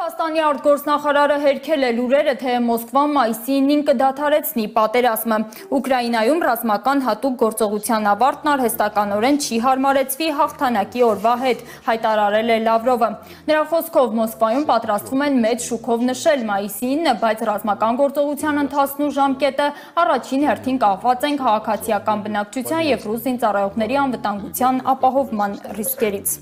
Ռուսաստանի արտգործնախարարը հերքել է լուրերը, թե Մոսկվան մայիսին 9 կդադարեցնի պատերազմը։ Ուկրաինայում ռազմական հատուկ գործողության ավարտն արհեստականորեն չի հարմարեցվի հաղթանակի օրվա հետ, հայտարարել է Լավրովը։ Նրա խոսքով Մոսկվայում պատրաստվում են մեծ շուքով նշել մայիսի 9-ը, բայց ռազմական գործողության ընթացն ու ժամկետը առաջին հերթին կախված են քաղաքացիական բնակչության և ռուս զինծառայողների անվտանգության ապահովման ռիսկերից։